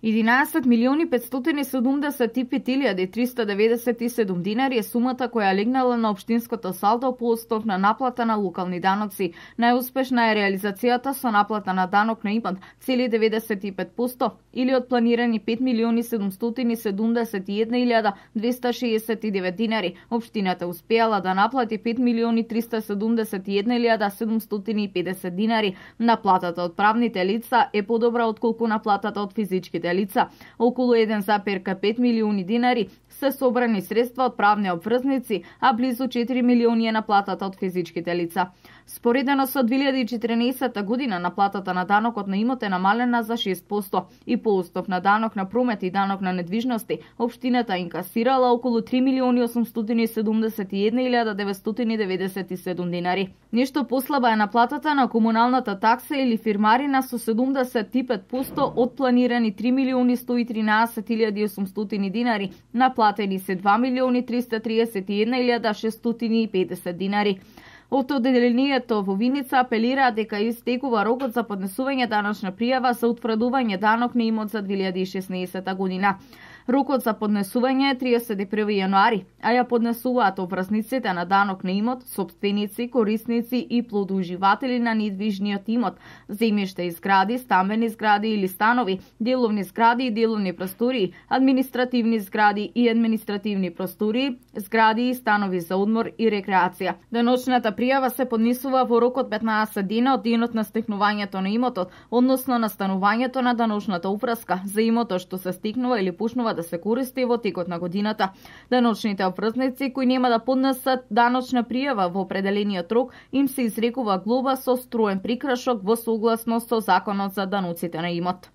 11.575.397 динари е сумата која легнала на општинското салдо по основ на наплата на локални даноци. Најуспешна е реализацијата со наплата на данок на имот, цели 95%, или од планирани 5.771.269 динари. Општината успеала да наплати 5.371.750 динари. Наплатата од правните лица е подобра отколку наплатата од физичките лица. Околу 1,5 милиони динари се собрани средства од правни обврзници, а близу 4 милиони е наплатата од физичките лица. Споредено со 2014 година наплатата на данокот на имот е намалена за 6% и по основ на данок на промет и данок на недвижности, општината инкасирала околу 3.871.997 динари. Нешто послаба е наплатата на комуналната такса или фирмарина со 75% од планирани 3.113.800 динари. Наплатени се 2.331.650 динари. Од одделението во Виница апелираат дека истекува рокот за поднесување даночна пријава за утврдување данок на имот за 2016 година. Рокот за поднесување е 31 јануари, а ја поднесуваат обврзниците на данок на имот, сопственици, корисници и плодоуживатели на недвижниот имот, земјиште и згради, стамбени згради или станови, деловни згради и деловни простории, административни згради и административни простории, згради и станови за одмор и рекреација. Даночната пријава се поднесува во рок од 15 дена од денот на стекнувањето на имотот, односно на станувањето на даночната упраска за имотот што се стекнува или почнува да се користи во текот на годината. Даночните обврзници кои нема да поднесат даночна пријава во определениот рок, им се изрекува глоба со строен прикршок во согласност со Законот за даноците на имот.